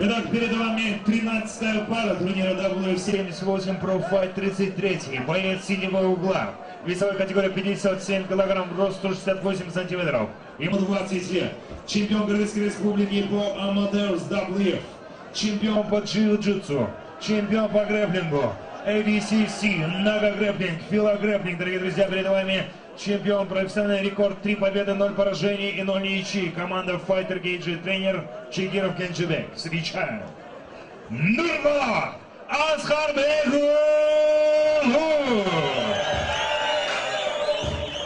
Итак, перед вами 13-я пара турнира WF78 Pro Fight 33. Боец синего угла. Весовая категория 57 килограмм, рост 168 сантиметров. Ему 20 лет. Чемпион Кыргызской республики по Amateurs WF. Чемпион по джиу-джитсу. Чемпион по грэпплингу. ADCC, нога-грэпплинг, филогрэпплинг. Дорогие друзья, перед вами чемпион, профессиональный рекорд, 3 победы, 0 поражений и 0 ничьи. Команда Fighter Cage, тренер Чигиров Кенжебек. Встречаем Нурболот Аскарбеков!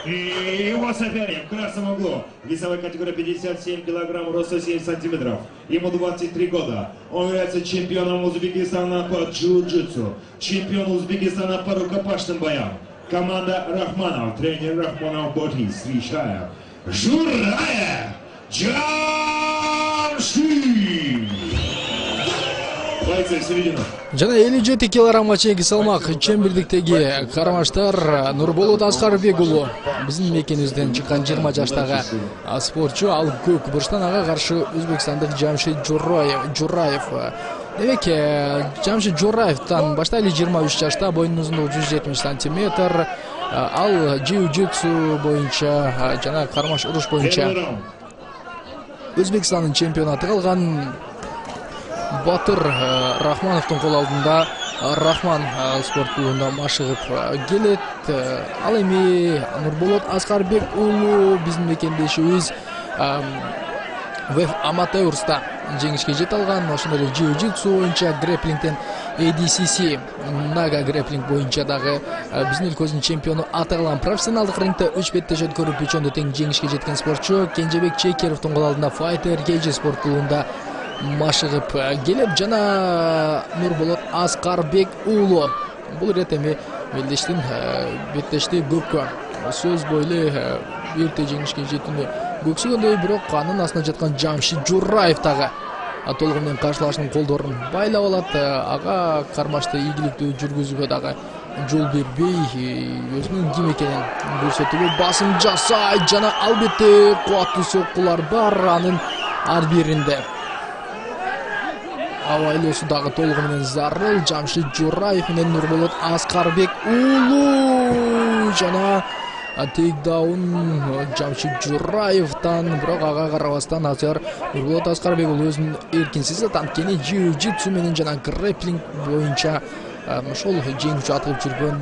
И его соперник в красном углу. Весовая категория 57 килограмм, рост 107 сантиметров. Ему 23 года. Он является чемпионом Узбекистана по джиу-джитсу. Чемпион Узбекистана по рукопашным боям. Команда Рахманов, тренер Рахманов Боти. Встречаем Жураев Джамши. Бойцы в середину. Жана 57 килограммга чейинки салмак чембирдиктеги кармаштар Нурболот Аскарбек уулу биздин мекенибизден чыккан 20 жаштагы спортчу. Ал көк бурчтан ага каршы өзбекстандык Жамшид Жураев. Демек, Жамшид Жураевтан баштайлы 23 жашта, боюнун узундугу 170 сантиметр. Ал джиу-джитсу боюнча жана кармаш уруш боюнча Өзбекстандын чемпионаты калган. Батыр Рахмановдун кол алдында Рахман спорт клубунда машыгып келет. Ал эми Нурболот Аскарбек уулу биздин мекендешибиз WF Amateur'ста жеңишке жете алган. Ошондой эле джиу-джитсу боюнча, грэпплингден ADCC, нага грэпплинг боюнча дагы биздин өлкөбүздүн чемпиону аталган. Профессионалдык рингде 3 беттешет көрүп үчөндө тең жеңишке жеткен спортчу Кенжебек Чекеровдун кол алдында Fighter Cage спорт клубунда машыгып келет. Жана Нурболот Аскарбек уулу бул ирет эми белдештин беттешти көпкө сөз бойлу эрте жеңишке жетүүнү көксөгөндөй, бирок анын астында жаткан Жамшид Жураев дагы толугу менен каршылашынын колдорун байлап алат. Ага кармашты ийгиликтүү жүргүзүүгө дагы жол бербей, өзүнүн ким экенин көрсөтүүгө басым жасайт. Жана албетте кубаттуу соккулар бар анын ар биринде. Авайлоосу дагы толугу менен зарыл. Жамшид Жураев менен Нурболот Аскарбек уулу. Жана тейкдаун Жамшид Жураевтан, бирок ага карабастан азыр Нурболот Аскарбек уулу өзүн эркинсиз анткени джиу-джитсу менен жана грэпплинг боюнча ошол жеңүүчү атылып жүргөн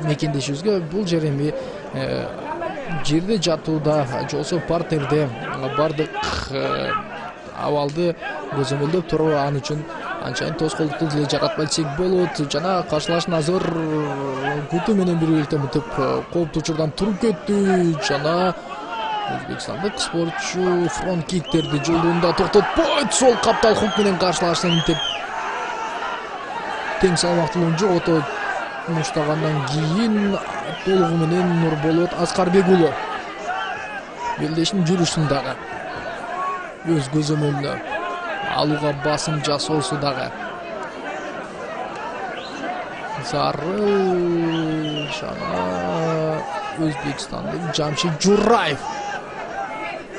мекендешибизге бул жер эми жерде жатууда же болбосо партерде бардык абалды көзөмөлдөп туруп ал үчүн анчайын тоскоолдукту деле жаратпай десек болот. Жана каршылашын азыр күтүү менен биргеликте мынтип кооптуу учурдан туруп кетти. Жана өзбекстандык спортчу фронт киктерди жолдуунда токтотпойт. Сол каптал хук менен каршылашын мынтип тең салмактуулугун жогото муштагандан кийин толугу менен Нурболот Аскарбек уулу белдешин жүрүшүн дагы өз көзөмөлүнө алууга басым жасоосу дагы зарыл. Жана өзбекстандык Жамшид Жураев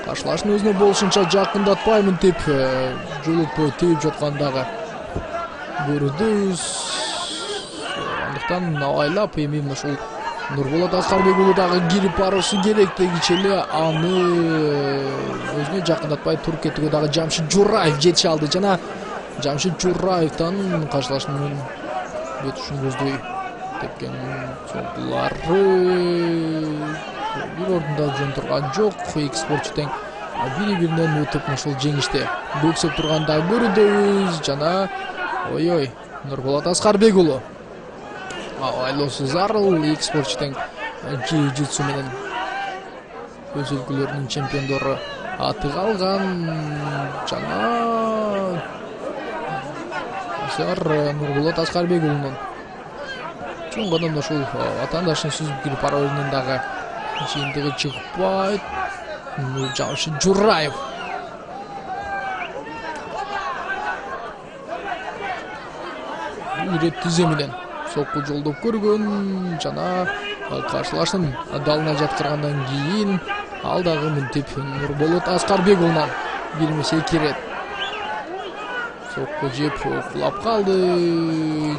каршылашын өзүнө болушунча жакындатпай мынтип жолотпой тийип жаткан дагы көрдүбүз. Андыктан абайлап эми ушул Нурболот Аскарбек уулу дагы кирип баруусу керек. Дегиче эле аны өзүнө жакындатпай туруп кетүүгө дагы Жамшид Жураев жетише алды. Жана Жамшид Жураевтан каршылашынын өтүшүн көздөй тепкен сокулары бир ордунда жөн турган жок. Эки спортчу тең бири-биринен өтүп ушул жеңиште көксөп турганда көрдүбүз. Жана ой Нурболот Аскарбек уулу айлоосу зарыл. Эки спортчу тең джиу-джитсу менен өз өлкөлөрүнүн чемпиондору атыга алган. Жана азыр Нурболот Аскарбек уулунун чоң гана ушул атаандашын сүзүп кирип баруунун дагы жыйынтыгы чыкпайт. Жамшид Жураев ирет тизе менен сокку жолдоп көргөн. Жана каршылашын далына жаткыргандан кийин ал дагы мынтип Нурболот Аскарбек уулунан бирмесе кирет. Сокку жеп кулап калды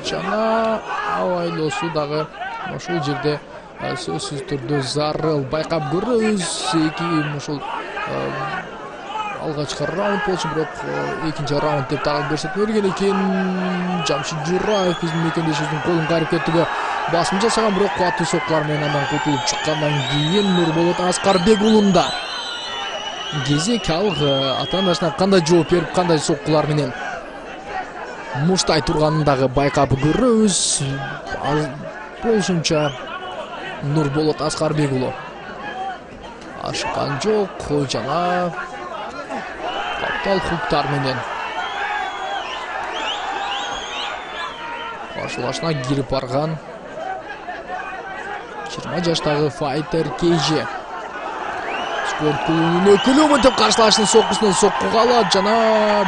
жана абайлоосу дагы ошол жерде сөзсүз түрдө зарыл. Байкап көрөбүз, ушул алгачкы раунд болчу, бирок экинчи раунд деп дагы көрсөтмө берген экен. Жамшид Жураев биздин мекендешибиздин колун кайрып кетүүгө басым жасаган, бирок кубаттуу соккулар менен андан кутулуп чыккандан кийин Нурболот Аскарбек уулунда кезек ал ата-анасына кандай жооп берип, кандай соккулар менен муштай турганын дагы байкап көрөбүз. Болушунча Нурболот Аскарбек уулу ашыккан жок жана каптал хуктар менен каршылашына кирип барган 20 жаштагы файтер Кейже спорт клубунун өкүлү мынтип каршылашынын соккусунан соккуга алат жана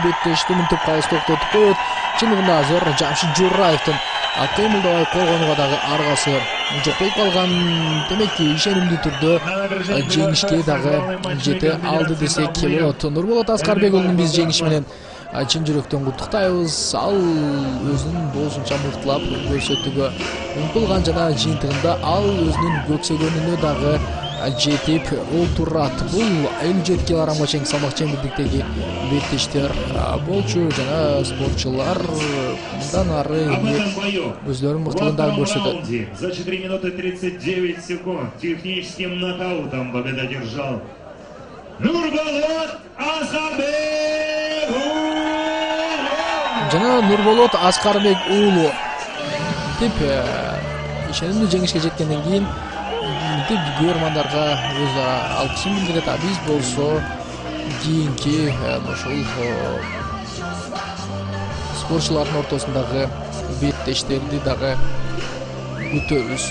беттешти мынтип калыс токтотуп коет. Чындыгында азыр Жамшид Жураевдин кыймылдабай койгонуга дагы аргасы жок болуп калган. Демек ишенимдүү түрдө жеңишке дагы жете алды десек болот. Нурболот Аскарбек уулунун биз жеңиши менен чын жүрөктөн куттуктайбыз. Ал өзүнүн болушунча мыктылап көрсөтүүгө умтулган жана жыйынтыгында ал өзүнүн көксөгөнүнө дагы жетип олтурат. Бул 57 килограммга чейинки салмак чемпиондуктеги беттештер болчу жана спортчулар мындан ары өзлөрүнүн мыктылыгын дагы көрсөтөт. За 4 минуты 39 секунд техническим нокаутом победу одержал Нурболот Аскарбек уулу. Жана Нурболот Аскарбек уулу деп ишенимдүү жеңишке жеткенден кийин деп көрөрмандарга өз алкышын билдирет. Биз болсо кийинки ошол спортчулардын ортосундагы беттештерди дагы күтөбүз.